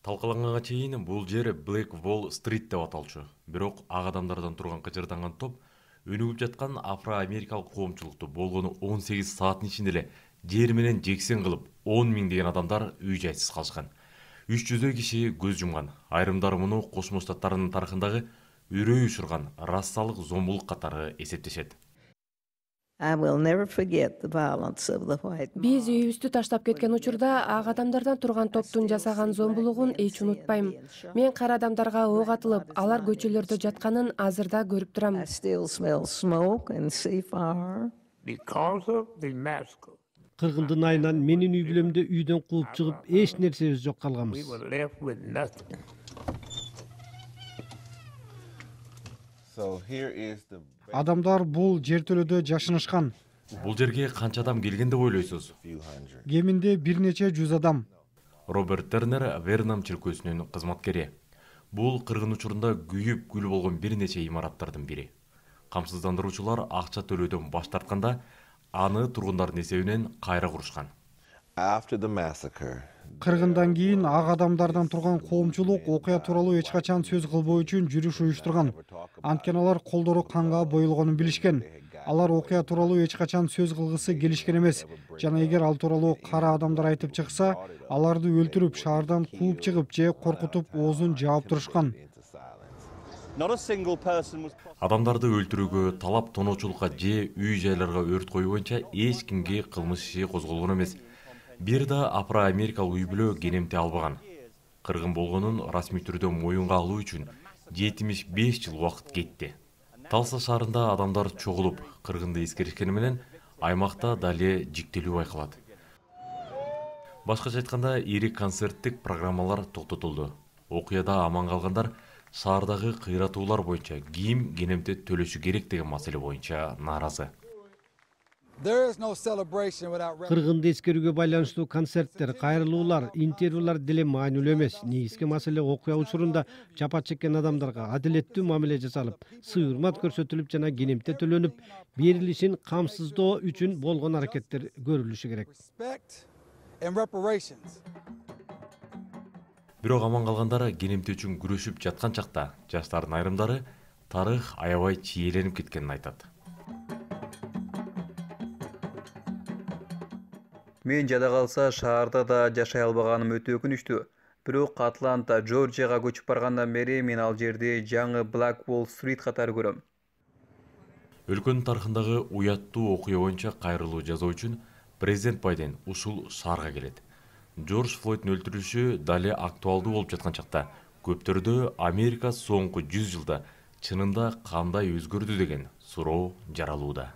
Талкаланганга чейин бул жер Black Wall Street деп аталчу. Бирок ак адамдардан турган кыжырданган топ өнүгүп жаткан афро-америкалык коомчулукту болгону 18 сааттын ичинде эле жер менен жексен кылып, 10 миңдеген адамдар үй-жайсыз калышкан. 300 киши көз жумган. Айрымдары муну Кошмо Штаттардын тарыхындагы үрөй учурган рассалык зомбулук катары эсептешет. Биз үйүбүздү таштап кеткен учурда ак адамдардан турган топтун жасаган зомбулугун эч унутпайм. Мен кара адамдарга ок атылып, алар көчөлөрдө жатканын азыр да көрүп турам. Кыргындын айынан менин үй бүлөмдү үйдөн кууп чыгып, эч нерсебиз жок калганбыз. Адамдар бул жертөлөдө жашынышкан. Бул жерге канча адам келген деп ойлойсуз? Кеминде бир нече 100 адам. Роберт Тернер Вернам чиркөөсүнүн кызматкери. Бул кыргын учурунда күйүп күл болгон бир нече имараттардын бири. Камсыздандыруучулар акча төлөөдөн баш тартканда, аны тургундардын эсебинен кайра курушкан. Кыргындан кийин ак адамдардан турган коомчулук окуя тууралуу эч качан сөз кылбоо үчүн жүрүш уюштурган. Анткени алар колдору канга боелгонун билишкен. Алар окуя тууралуу эч качан сөз кылгысы келишкен эмес. Жана эгер ал тууралуу кара адамдар айтып чыкса, аларды өлтүрүп, шаардан кууп чыгып же коркутуп оозун жаап турушкан. Адамдарды өлтүрүүгө, талап тоноочулукка же үй-жайларга өрт коюу боюнча эч кимге кылмыш иши козголгон эмес. Бир да афро-америкалык үй бүлө кенемте албаган. Кыргын болгонун расмий түрдө моюнга алуу үчүн 75 жыл убакыт кетти. Талса шаарында адамдар чогулуп, кыргынды эскеришкени менен аймакта дале жиктелүү байкалат. Башкача айтканда, ири концерттик программалар токтотулду. Окуяда аман калгандар шаардагы кыйратуулар боюнча ким кенемте төлөшү керек деген маселе боюнча нааразы. Кыргынды эскерүүгө байланыштуу концерттер, кайрылуулар, интервьюлар деле маанилүү эмес. Негизги маселе окуя учурунда жапа чеккен адамдарга адилеттүү мамиле жасалып, сый-урмат көрсөтүлүп жана кенемте төлөнүп, берилишин камсыздоо үчүн болгон аракеттер көрүлүшү керек. Бирок аман калгандар кенемте үчүн күрөшүп жаткан чакта жаштардын айрымдары тарых аябай чийленип кеткенин айтат. Мен жада калса шаарда да жашай албаганым өтө өкүнүчтүү. Бирок Атланта, Жоржияга көчүп баргандан бери мен ал жерди жаңы Black Wall Street катары көрөм. Өлкөнүн тарыхындагы уяттуу окуя боюнча кайрылуу жасоо үчүн президент Байден ушул шаарга келет. Джордж Флойддун өлтүрүлүшү дале актуалдуу болуп жаткан чакта көптөрдө Америка соңку 100 жылда чынында кандай өзгөрдү деген суроо жаралууда.